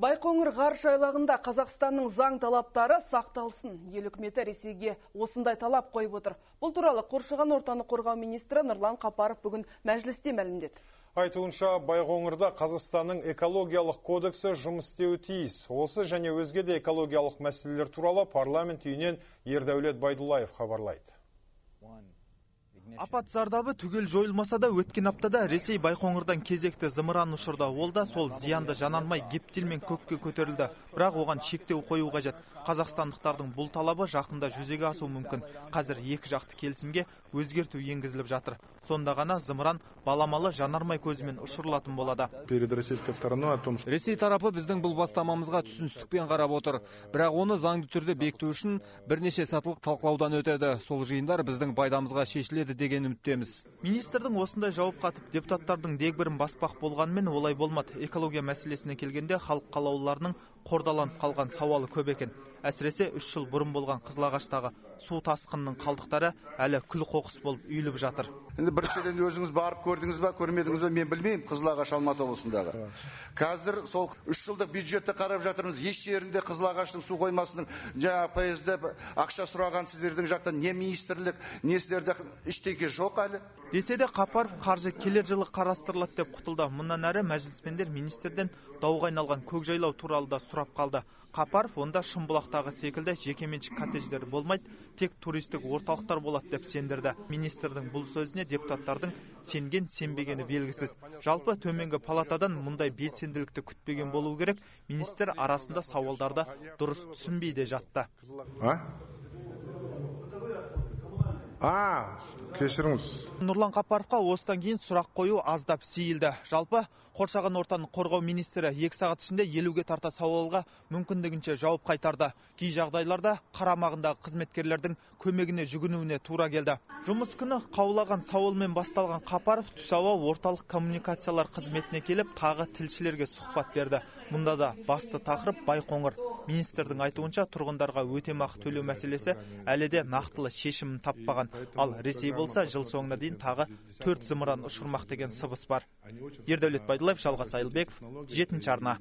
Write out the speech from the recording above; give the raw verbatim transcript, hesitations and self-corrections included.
Байқоңыр ғарыш айлағында Қазақстанның заң талаптары сақталсын. Ел үкіметі Ресейге осындай талап қойып отыр. Бұл туралы қоршаған ортаны қорғау министрі Нұрлан Қапаров бүгін мәжілісте мәлімдеді. Айтуынша, Байқоңырда Қазақстанның экологиялық кодексі жұмыс істеуі тиіс. Осы және өзге де экологиялық мәселелер туралы парламент үйінен Ердәулет Байдуллаев хабарлайды. Апат зардабы түгел жойылмаса да өткен аптада Ресей Байқоңырдан кезекті зымыран ұшырды. Ол да сол зиянды жанармай гептилмен көкке көтерілді. Бірақ оған шектеу қою қажет. Қазақстандықтардың бұл талабы жақында жүзеге асуы мүмкін. Қазір екі жақты келісімге өзгерту енгізіліп жатыр. Сонда ғана зымыран баламалы жанармай көзімен ұшырылатын болады. Ресей тарапы біздің бұл бастамамызға түсіністікпен қарап отыр. Бірақ оны заңды түрде бекіту үшін бірнеше сатылық талқылаудан өтеді. Сол жиындар біздің пайдамызға шешіледі деген үміттеміз. Министрдің осындай жауап қатып, депутаттардың дегбірін баспақ болғанымен олай болмады. Экология мәселесіне келгенде халық қалаулыларының қордаланып қалған сауалы көп екен. Әсіресе үш жыл бұрын болған Қызылағаштағы су тасқынының қалдықтары әлі күл қоқыс болып үйіліп жатыр. Енді біріншіден өзіңіз барып көрдіңіз ба, көрмедіңіз ба, мен білмеймін Қызылағаш Алматы облысындағы. Қазір сол үш жылдық бюджетті қарап жатырмыз. Еш жерінде Қызылағаштың су қоймасының жаңа пайызда ақша сұраған сіздердің жақтан не министрлік, не сіздерде ештеңе жоқ әлі. Десе де Қапаров қаржы келер жылы қарастырылады деп құтылды. Мұнан әрі мәжіліспендер министрден дауға айналған көкжайлау туралы да сұрап қалды. Қапаров онда Шымбұлақтағы секілді жекеменшік коттедждер болмайды, тек туристік орталықтар болады деп сендірді. Министрдің бұл сөзіне депутаттардың сенген сенбегені белгісіз. Жалпы төменгі палатадан мұндай белсенділікті күтпеген болу керек. Министр арасында сауалдарды дұрыс түсінбей де жатты. А, кешіріңіз. Нұрлан Қапаровқа осыдан кейін сұрақ қою аздап сейілді. Жалпы қоршаған ортаны қорғау министрі екі сағат ішінде елуге тарта сауалға мүмкіндігінше жауап қайтарды. Кей жағдайларда қарамағындағы қызметкерлердің көмегіне жүгінуіне тура келді. Жұмыс күні қаулаған сауалмен басталған Қапаров түс ауа орталық коммуникациялар қызметіне келіп, тағы тілшілерге сұхбат берді. Мұнда да басты тақырып Байқоңыр. Министрдің айтуынша тұрғындарға өтемақы төлеу мәселесі әлі де нақтылы шешімін таппаған. Ал Ресей болса жыл соңына дейін тағы төрт зымыран ұшырмақ деген сыбыс бар. Ердәулет Байдуллаев, Жалғас Айылбеков, жетінші арна.